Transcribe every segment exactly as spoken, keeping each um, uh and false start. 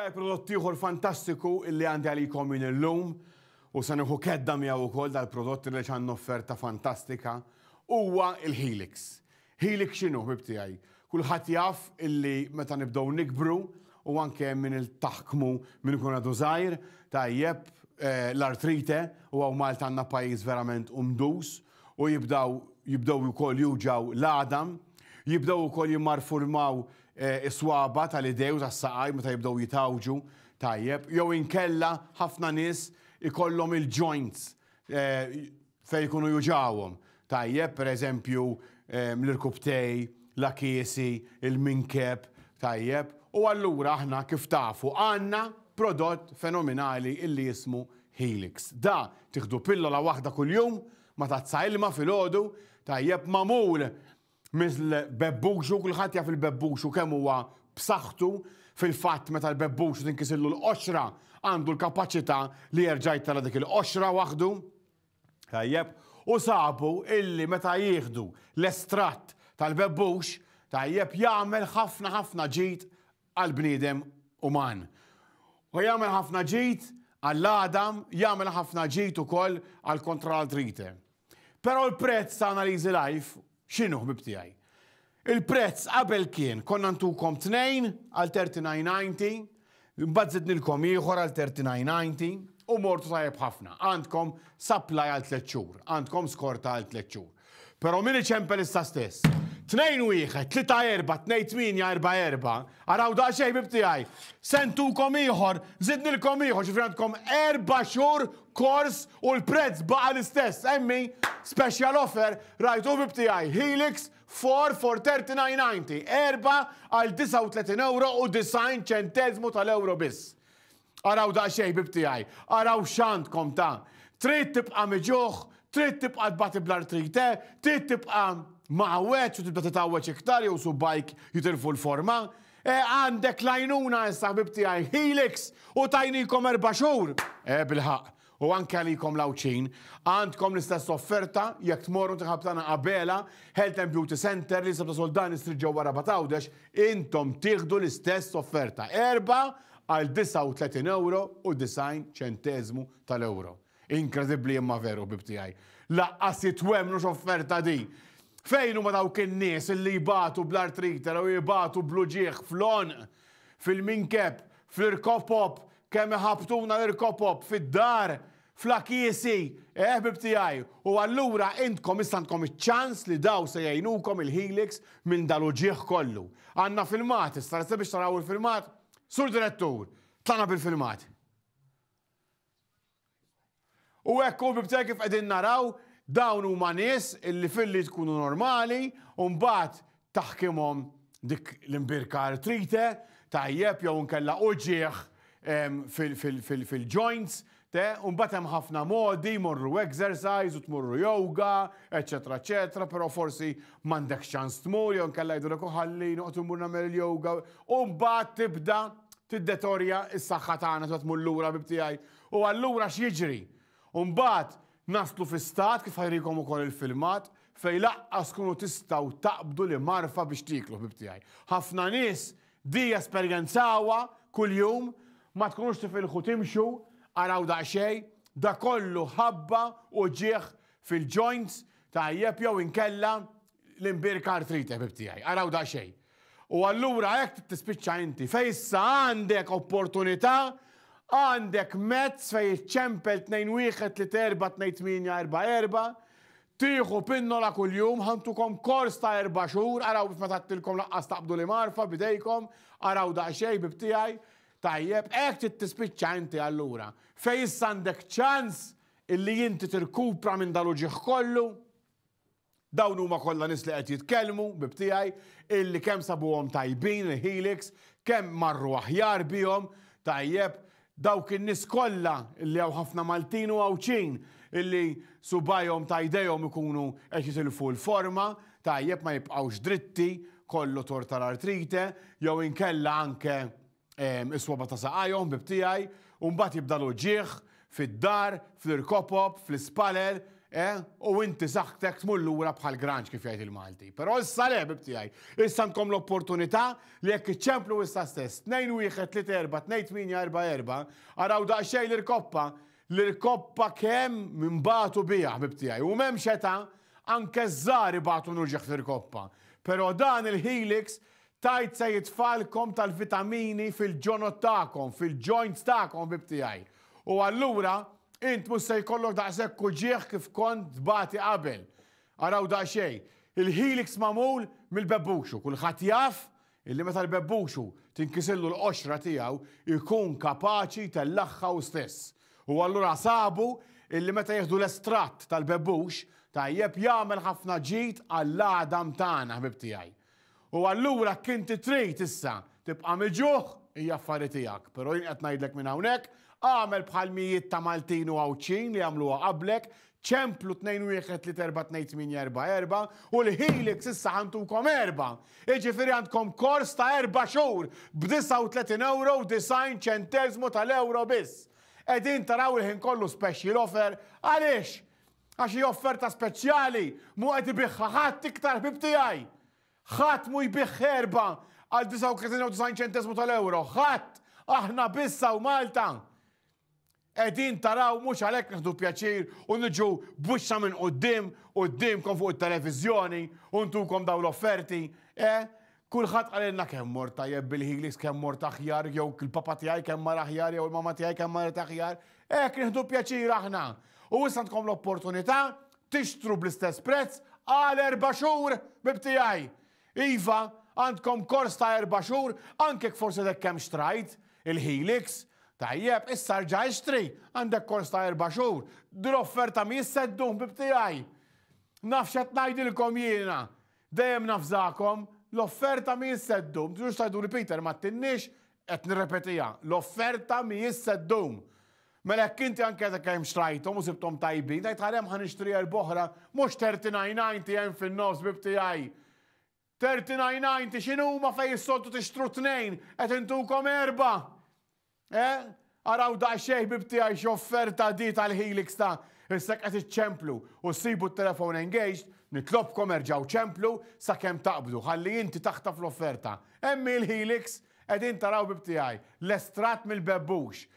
Tiegħi, prodott ieħor fantastiku illi għandi għalikom minn illum u se nieħu kedda miegħu wkoll dal-prodott li għandna offerta fantastika huwa il-Helix. Helix x'inhu, ħbib tiegħi? Kulħadd jaf illi meta nibdew nikbru u anke minn il-taħkmu minn ikun għadu żgħir, tajjeb, eh, l-artrite, u hawn Malta għandna pajjiż verament umdus u jibdaw jibdew ukoll juġgħu l-għadam, jibdew ukoll jimmarfurmaw eh, is-swaba tal-idej u tas-saqaj meta jibdew jitawġu, tajjeb, jew inkella ħafna nies ikollhom il-joints eh, fejn jkunu juġawhom. Tajjeb, per eżempju, eh, l-irkubtej, l-akiesi, il-minkeb, tajjeb. U allura aħna, kif tafu, għandna prodott fenomenali illi jismu Helix. Da tieħdu pillola waħda kuljum ma' tazza ilma filgħodu, tajjeb, magħmul mill-bebbuxu. Kulħadd jaf il-bebbuxu kemm huwa b'saħħtu. Fil-fatt, meta l-bebbuxu tinkisillu l-qoxra, għandu l-kapaċità li jerġa' jtella' dik il-qoxra waħdu. Tajjeb, u sabu illi meta jieħdu l-estratt tal-bebbux, tajjeb, jagħmel ħafna ħafna ġid għal-bniedem uman. U jagħmel ħafna ġid għall-għadam, jagħmel ħafna ġid ukoll għal kontra l-artrite. Però l-prezz ta' Analiżi Life x'inhu, ħbib tiegħi? Il-prezz qabel kien konna ntukom tnejn għal tletin disgħin, mbagħad zidnilkom ieħor għal tletin disgħin u mortu tajjeb ħafna. Għandkom supply għal tliet xhur, għandkom skorta għal tliet xhur. Però min iċempel issa stess, tnejn wieħed, tlieta erba', tnejn tmienja, erba' erba', araw daqsxejn, ħbib tiegħi, se ntukom ieħor, zidnilkom ieħor, ġifieri għandkom erba' xhur kors u l-prezz baqa l-istess. Emmi, special offer, rajtu, ħbib tiegħi, Helix four for thirty-nine ninety, erba għal disgħa u tletin euro u disgħin ċentezmu tal-euro biss. Araw daqsxejn, ħbib tiegħi, araw x'għandkom ta' trid tibqa' miġuħ, trid tibqa' tbati bl-artrite, trid tibqa' mgħawweġ u tibda titgħawweġ iktar jew subgħajk jitilfu l-forma. E, għandek l-għajnuna issa, ħbib tiegħi, Helix, u tajnikom erba' xhur. E, bil-ħaq. U anke għalikom l-Għawdxin, għandkom l-istess offerta jekk tmorru tħabtana Abela, Health and Beauty Center li sabta Soldani Street ġewwa Rabat Għawdex, intom tieħdu l-istess offerta. Erba għal disgħa u tletin euro u disgħin ċentezmu tal-euro. Inkredibbli imma veru, ħbib tiegħi. Lanqas temmnu x'offerta di. Fejn huma dawk in-nies illi jibatu bl-artrite u jibatu bl-uġigħ fl-għonq, fil-minkeb, fl-irkopop, kemm iħabtuna l-irkopop fid-dar, fl-akiesi, eh, ħbib tiegħi? U allura intkom issa għandkom iċ-ċans li daw se jgħinukom il-Helix minn dal-uġigħ kollu. Għandna filmat, issa biex taraw il-filmat. Sur Direttur, tlaqna bil-filmat. U hekk hu, ħbib tiegħi, kif qegħdin naraw, dawn huma nies illi filli tkunu normali u mbagħad taħkimhom dik l-imbirka artrite, tajjeb, jew nkella uġigħ fil-joints, te, u mbagħad hemm ħafna modi, morru exercise u tmorru yoga, eċetera, eċetera, però forsi m'għandek ċans tmur, jew nkella jgħidulek ħalli noqgħod immur nagħmel il-yoga, u mbagħad tibda tiddetorja s-saħħa tagħna, tmur lura, ħbib tiegħi. U allura x'jiġri? U mbagħad naslu fi stat, kif ħa jurikom ukoll il-filmat, fejn lanqas tkunu tistgħu taqbdu l-imgħarfa biex tieklu, ħbib tiegħi. Ħafna nies di esperjenzawha kuljum, ma tkunux tifilħu timxu, araw daqsxejn, da kollu ħabba uġigħ fil-joints, tajjeb, jew inkella l-imbirka artrite, ħbib tiegħi. Araw daqsxejn. U allura hekk tispiċċa inti, fej issa għandek opportunità, għandek mezz fej ċempel tnejn wieħed tlieta erba' tnejn tmienja erba' erba', tieħu pinnola kuljum, ħa ntukom kors ta' erba' xhur, araw bif ma tattilkom lanqas taqbdu l-imgħarfa bidejkom, araw daqsxejn, ħbib tiegħi, tajjeb, hekk trid tispiċċa inti allura. Fej issa għandek ċans illi inti tirkupra minn dal-uġigħ kollu. Dawn huma kollha nies li qed jitkellmu, ħbib tiegħi, illi kemm sabuhom tajbin il-Helix, kemm marru aħjar bihom, tajjeb, dawk in-nies kollha illi hawn ħafna Maltin u Għawdxin illi subgħajhom ta' jdejhom ikunu qed jitilfu l-forma, tajjeb, ma jibqgħux dritti, kollu tort tal-artrite, jew inkella anke is-swaba ta' saqajhom, ħbib tiegħi, u mbagħad jibda l-uġigħ fid-dar, fl-irkopop, fl-ispalel. eh, u inti saħħtek tmur lura bħal granċ kif jgħid il-Malti. Però issa le, ħbieb tiegħi, issa għandkom l-opportunità li jekk iċċemplu issa stess, tnejn wieħed tlieta erba' tnejn tmienja erba' erba', araw daqsxejn l-irkoppa, l-irkoppa kemm minbatu biha, ħbieb tiegħi. U m'hemmx età, anke ż-żgħar ibatu uġigħ fl-irkoppa. Però dan il-Helix tajt se jitfalkom tal-vitamini fil-ġonot tagħkom, fil-joints tagħkom, ħbieb tiegħi. U allura, int mhux se jkollok daqshekk uġigħ kif kont tbati qabel. Araw daqsxejn, il-Helix magħmul mill-bebbuxu, kulħadd jaf illi meta l-bebbuxu tinkisillu l-qoxra tiegħu ikun kapaċi tellagħha hu stess. U allura sabu illi meta jieħdu l-estratt tal-bebbux, tajjeb, jagħmel ħafna ġid għall-għadam tagħna, ħbieb tiegħi. U allura kinti trid issa tibqa' miġuħ hija affari tiegħek, però jien qed ngħidlek minn hawnhekk, għamel bħal mijiet ta' Maltin u Għawdxin li għamluha qablek, ċemplu tnejn wieħed tlieta erba' tnejn tmienja erba' erba' u l-Helix issa ħa ntukom erba'. Jiġifieri għandkom kors ta' erba' xhur b'disgħa u tletin euro u disgħin ċenteżmu tal-euro biss. Qegħdin taraw il-ħin kollu special offer, għaliex? Għax hi offerta speċjali, mhu qed ibigħha ħadd iktar, ħbieb tiegħi. Ħadd mhu jbigħ erba' għal disgħa u tletin u disgħin ċenteżmu tal-euro, ħadd, aħna biss u Malta. Qegħdin taraw, mhux għalhekk nieħdu pjaċir u niġu b'wiċċna minn quddiem, quddiemkom fuq it-televiżjoni u ntukom dawn l-offerti. Eh? Kulħadd qalilna kemm mort tajjeb bil-Helix, kemm mort aħjar, jew il-papa tiegħi kemm mar aħjar, jew il-mama tiegħi kemm marret aħjar. Hekk nieħdu pjaċir aħna. U issa għandkom l-opportunità tixtru bl-istess prezz għal erba' xhur, ħbieb tiegħi. Iva, għandkom kors ta' erba' xhur, anke forsi dek kemm xtrajt il-Helix. Tajjeb, issa rġa' ixtri, għandek kors ta' erba' xhur. Din l-offerta mhijiex se ddum, ħbieb tiegħi. Naf x'qed ngħidilkom jiena. Dejjem nafżakom, l-offerta mhijiex se ddum. Tiġux tgħidu li Peter ma tinnix, qed nirrepetiha. L-offerta mhijiex se ddum. Mela jekk inti anke għadek kemm xtrajthom u sibthom tajbin, tgħid ħarem ħa nixtri erba' oħra, mhux thirty-nine ninety hemm fin-nofs, ħbieb tiegħi. thirty-nine ninety x'inhuma fejn is-soltu tixtru tnejn, qed intukom erba'. Eh? Araw daqsxejn, ħbieb tiegħi, x'offerta di tal-Helix ta' issa qed iċċemplu u ssibu t-telefon engaged, nitlobkom erġgħu ċemplu sakemm taqbdu, ħalli inti taħtaf l-offerta. Hemm il-Helix, qegħdin taraw, ħbieb tiegħi, l-estratt mill-bebbux.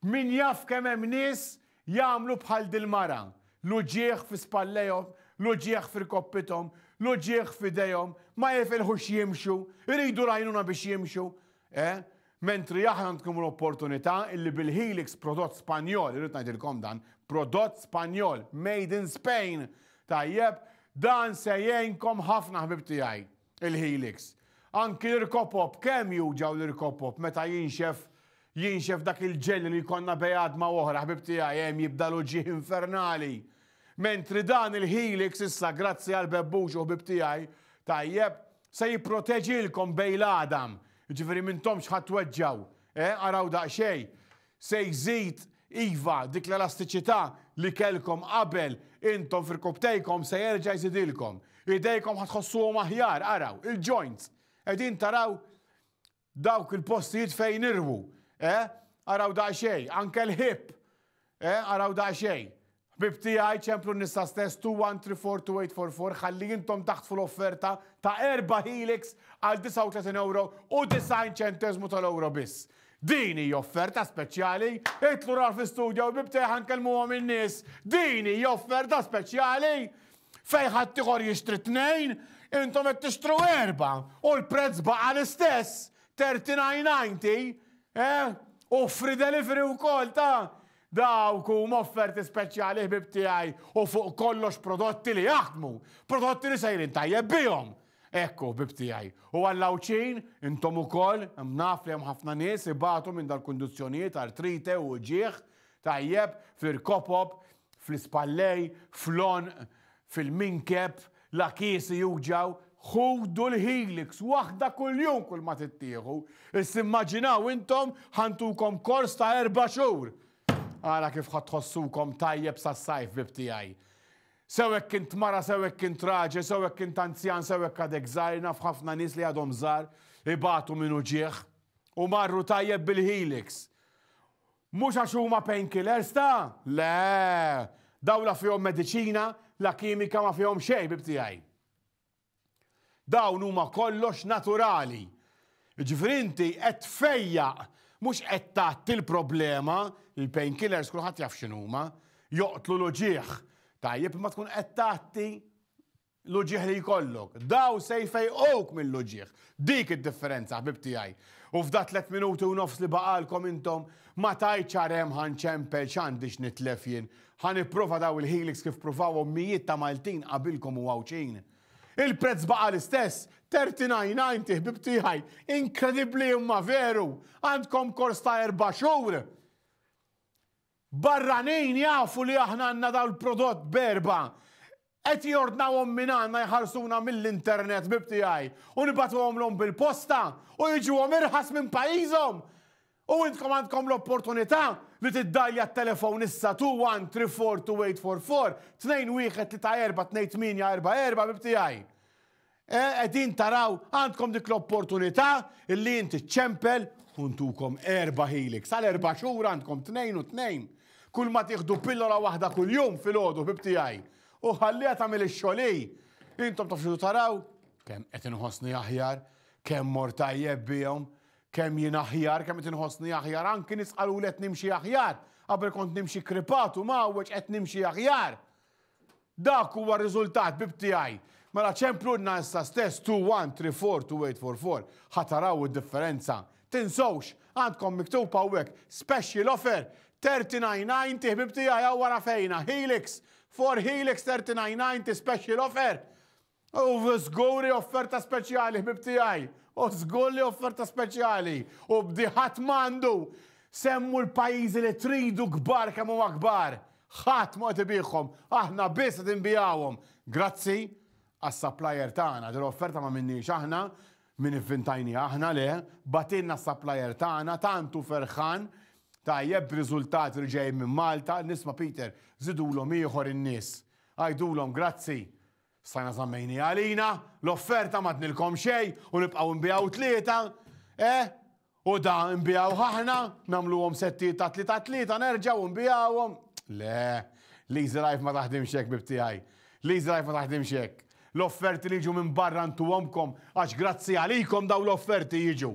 Min jaf kemm hemm nies jagħmlu bħal dil-mara, l-uġigħ fi spallejhom, l-uġigħ f'irkoppithom, l-uġigħ f'idejhom, ma jifilħux jimxu, iridu l-għajnuna biex jimxu. Eh? Mentri aħna għandkom l-opportunità illi bil-Helix, prodott Spanjol, irrid ngħidilkom dan, prodott Spanjol, made in Spain, tajjeb, dan se jgħinkom ħafna, ħbieb tiegħi, il-Helix. Anki l-irkopop, kemm juġgħu l-irkopop meta jinxef jinxef dak il-ġelli li jkollna bejn għadma oħra, ħbieb tiegħi, hemm jibda l-uġigħ infernali. Mentri dan il-Helix issa, grazzi għal bebbux u ħbieb tiegħi, tajjeb, se jipproteġilkom bejn l-għadam. Ġifieri m'intomx ħa tweġġgħu, eh, araw daqsxejn, se jżid, iva, dik l-elastiċità li kellkom qabel intom f'irkopptejkom se jerġa' jżidilkom. Idejkom ħa tħossuhom aħjar, araw, il-joints. Qegħdin taraw dawk il-postijiet fejn irwu, eh? Araw daqsxejn, anke l-hip, eh? Araw daqsxejn. Ħbieb tiegħi, ċemplu issa stess two one three four two eight four four ħalli intom taħtfu l-offerta ta' erba' Helix għal disgħa u tletin euro u disgħin ċentesmu tal-euro biss. Din hija offerta speċjali, itilgħu ra fi studio u ħbieb tiegħi ħa nkellmuhom in-nies. Din hija offerta speċjali fejn ħadd ieħor jixtri tnejn, intom qed tixtru erba' u l-prezz baqa' l-istess, thirty-nine ninety, eh? U free delivery wkoll ta' dawk huma offerti speċjali, ħbieb tiegħi, u fuq kollox prodotti li jaħdmu, prodotti li sejrin tajjeb bihom. Ekku, ħbieb tiegħi. U għall-Għawdxin, intom ukoll, naf li hemm ħafna nies ibatu minn dal-kundizzjonijiet, artrite u uġigħ, tajjeb, fil-kopop, fl-ispallej, fl-għonq, fil-minkeb, l-għakiesi juġgħu, ħudu l-Helix, waħda kull-jum kull ma tittieħu. Issa immaġinaw intom ħa ntukom kors ta' erba' xhur. Ara kif ħa tħossukom tajjeb sas-sajf, ħbieb tiegħi. Sew jekk kint mara, sew jekk kint raġel, sew jekk kint anzjan, sew jekk għadek żgħir, naf ħafna nies li għadhom żgħar ibatu minn uġigħ u marru tajjeb bil-Helix. Mhux għax huma painkillers ta'? Le, Daw la fihom mediċina, la kimika, ma fihom xejn, ħbieb tiegħi. Dawn huma kollox naturali. Ġifieri inti qed tfejjaq, mhux qed tgħatti l-problema, il-painkillers kulħadd jaf x'inhuma, joqtlu l-uġigħ. Tajjeb, ma tkun qed tgħatti l-uġigħ li jkollok. Daw se jfejquk mill-uġigħ. Dik id-differenza, ħbib tiegħi. U f'da tliet minuti u nofs li baqalkom intom, ma tajt ċarem ħa nċempel, x'għandix nitlef jien. Ħa nipprova daw il-Helix kif provawhom mijiet ta' Maltin qabilkom u Għawdxin. Il-prezz baqa l-istess, tletin disgħa u disgħin, ħbib tiegħi, inkredibbli imma veru, għandkom kors ta' erba' xhur. Barranin jafu li aħna għandna daw il-prodott b'erbgħa. Qed jordnawhom minn għandna, jħarsuna mill-internet, ħbib tiegħi, u nibagħtuhomlhom bil-posta u jiġuhom irħas minn pajjiżhom. U intkom għandkom l-opportunità li tiddajja t-telefon issa two one three four two eight four four, two one three four two eight four four, ħbib tiegħi. Qegħdin taraw, għandkom dik l-opportunità illi inti ċempel u ntukom erba' Helix. Għal erba' xhur għandkom tnejn u tnejn. Kull ma tieħdu pillola waħda kull jum filgħodu, ħbib tiegħi. U ħallija tagħmel ix-xogħol. Intom taf taraw kemm qed inħossni aħjar, kemm mor tajjeb bihom, kemm jien aħjar, kemm qed inħossni aħjar, anki nies qalu qed nimxi aħjar. Qabel kont nimxi kripatu mgħawweġ, qed nimxi aħjar. Dak huwa r-riżultat, ħbib tiegħi. Mela ċemplunna issa stess two one three four two eight four four, ħa taraw id-differenza. Tinsewx, għandkom miktub hawnhekk special offer thirty-nine ninety, ħbib tiegħi, hawn wara fejna Helix for Helix thirty-nine ninety special offer. U żgur offerta speċjali, ħbib tiegħi. U żgur li offerta speċjali. U bdi ħadd m'għandu. Semmu l-pajjiżi li tridu, kbar kemm huma kbar. Ħadd ma qed ibigħhom, aħna biss qed inbigħuhom. Grazzi għas-supplier tagħna, din l-offerta ma minniex aħna, min ivvintajni aħna, le, bagħtilna s-supplier tagħna, tantu ferħan, tajjeb b'riżultati li ġej minn Malta, nisma' Peter, żidulhom ieħor in-nies. Għajdulhom grazzi. Stajna żammejni għalina, l-offerta ma tnilkom xejn u nibqgħu nbigħu tlieta, eh? U da nbigħu aħna, nagħmluhom settijiet ta' tlieta tlieta, nerġgħu nbigħuhom. Le, l-Easy Life ma taħdimx hekk, ħbib tiegħi. L-Easy Life ma taħdimx hekk. L-offerti li jiġu minn barra ntuhomkom għax grazzi għalikom daw l-offerti jiġu.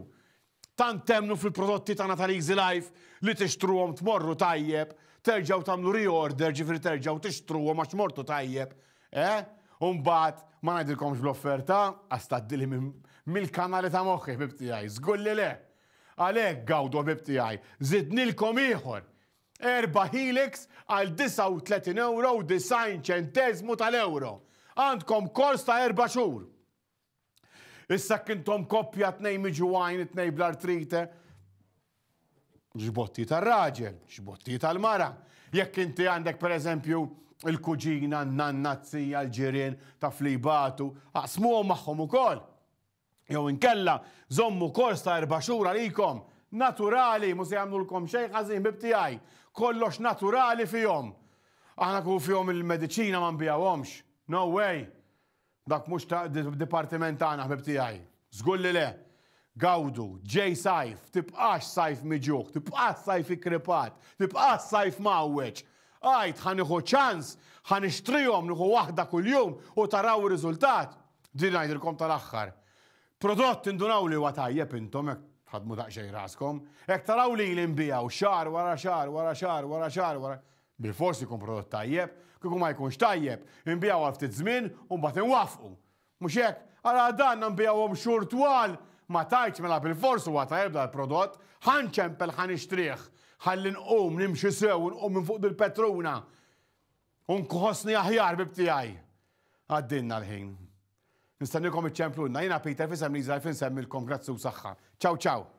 Tant temmnu fil-prodotti tagħna tal-Easy Life li tixtruhom, tmorru tajjeb, terġgħu tagħmlu reorder, ġifieri terġgħu tixtruhom għax mortu tajjeb. Eh? Umbagħad ma ngħidilkomx bl-offerta, għax tgħaddili mill-kanali ta' moħħi, ħbib tiegħi, żgur li le. Għalhekk gawdu, ħbib tiegħi, żidnilkom ieħor. Erba' Helix għal disgħa u tletin euro u disgħin ċentesmu tal-euro. Għandkom kors ta' erba' xhur. Issa kintom koppja, tnejn miġugħin, tnejn bl-artrite. Xbotti tal-raġel, xbotti tal-mara. Jekk inti għandek per eżempju il-kuġina, n-nanna, z-zija, l-ġirien ta' flibatu, aqsmuhom magħhom ukoll. Jew inkella żommu kors ta' erba' xhur għalikom. Naturali, mhux se jagħmlulkom xejn ħażin, ħbib tiegħi. Kollox naturali fihom. Aħna kun fihom il-mediċina ma nbigħuhomx. No way. Dak mhux ta' dipartiment tagħna, ħbib tiegħi. Żgur li le. Gawdu, ġej sajf, tibqax sajf miġugħ, tibqax sajf ikkripat, tibqax sajf mgħawweġ. Għajt, ħa nieħu ċans, ħa nixtrihom, nieħu waħda kuljum u taraw ir-riżultat. Din ngħidilkom tal-aħħar. Prodott indunaw li huwa tajjeb intom hekk tħadmu daqsxejn raskom. Hekk taraw li l-inbijaw xahar wara xahar wara xahar wara xahar wara. Bil-fors ikun prodott tajjeb, kieku ma jkunx tajjeb, inbigħu għal ftit żmien u mbagħad inwaqqfu. Mhux hekk, ara dan nbigħuhom xhur twal, ma tajtx, mela bil-fors huwa tajjeb dal-prodott, ħa nċempel, ħa nixtrih, ħalli nqum nimxi sew, nqum minn fuq dil-petruna. U nħossni aħjar, ħbib tiegħi. Għaddinna l-ħin. Nistennikom iċċemplunna, jiena Peter f'isem Liza, insellmilkom, grazzi u saħħa. Ciao ciao.